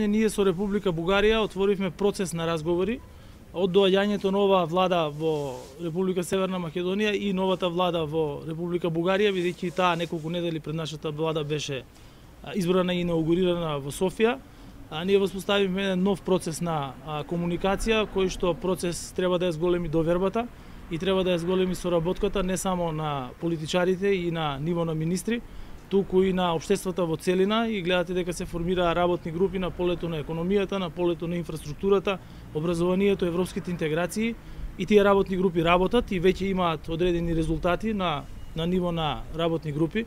Ние со Република Бугарија отворивме процес на разговори од доаѓањето нова влада во Република Северна Македонија и новата влада во Република Бугарија, бидејќи таа неколку недели пред нашата влада беше избрана и инаугурирана во Софија. Ние воспоставивме еден нов процес на комуникација, кој што процес треба да ја зголеми довербата и треба да ја зголеми соработката не само на политичарите и на ниво на министри, туку и на општеството во целина, и гледате дека се формираа работни групи на полето на економијата, на полето на инфраструктурата, образованието, европските интеграции, и тие работни групи работат и веќе имаат одредени резултати на ниво на работни групи.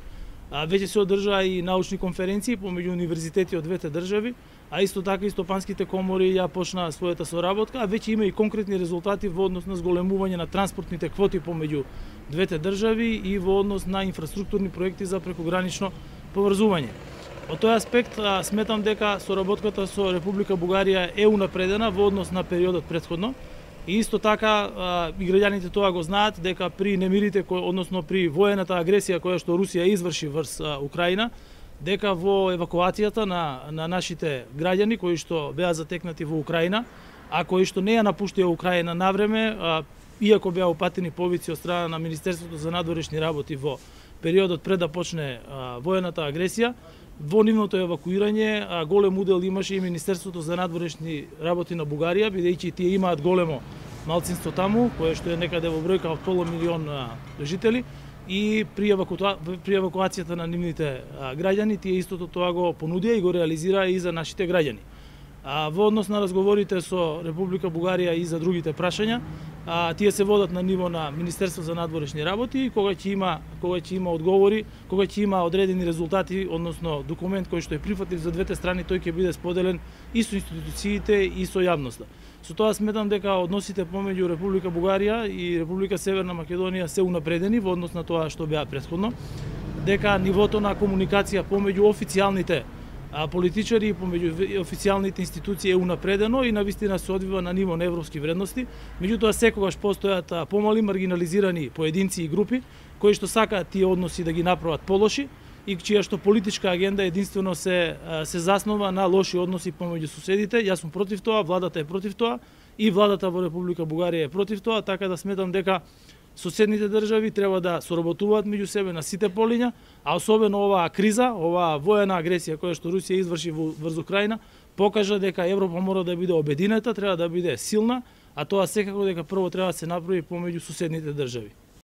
Веќе се одржаа и научни конференции помеѓу универзитети од двете држави, а исто така и стопанските комори ја почнаа својата соработка, а веќе има и конкретни резултати во однос на зголемување на транспортните квоти помеѓу двете држави и во однос на инфраструктурни проекти за прекогранично поврзување. Од тој аспект сметам дека соработката со Република Бугарија е унапредена во однос на периодот претходно. И исто така и граѓаните тоа го знаат дека при немирите, односно при воената агресија која што Русија изврши врз Украина, дека во евакуацијата на нашите граѓани кои што беа затекнати во Украина, а кои што не ја напуштија Украина навреме, иако беа упатени повици од страна на Министерството за надворешни работи во периодот пред да почне воената агресија, во нивното евакуирање голем удел имаше и Министерството за надворешни работи на Бугарија, бидејќи тие имаат големо малцинство таму, кое што е некаде во бројка од 500.000 жители, и при евакуацијата на нивните граѓани, тие истото тоа го понудија и го реализираа и за нашите граѓани. Во однос на разговорите со Република Бугарија и за другите прашања, тие се водат на ниво на Министерство за надворешни работи, и кога ќе има одговори, кога ќе има одредени резултати, односно документ кој што е прифатлив за двете страни, тој ќе биде споделен и со институциите и со јавноста. Со тоа сметам дека односите помеѓу Република Бугарија и Република Северна Македонија се унапредени во однос на тоа што беа претходно, дека нивото на комуникација помеѓу официјалните политичари и помеѓу официјалните институции е унапредено и навистина се одвива на ниво на европски вредности. Меѓутоа секогаш постојат помали маргинализирани поединци и групи кои што сакаат тие односи да ги направат полоши и чија што политичка агенда единствено се заснова на лоши односи помеѓу соседите. Јас сум против тоа, владата е против тоа и владата во Република Бугарија е против тоа, така да сметам дека соседните држави треба да соработуваат меѓу себе на сите полиња, а особено оваа криза, оваа воена агресија која што Русија изврши врз Украина, покажа дека Европа мора да биде обединета, треба да биде силна, а тоа секако дека прво треба да се направи помеѓу соседните држави.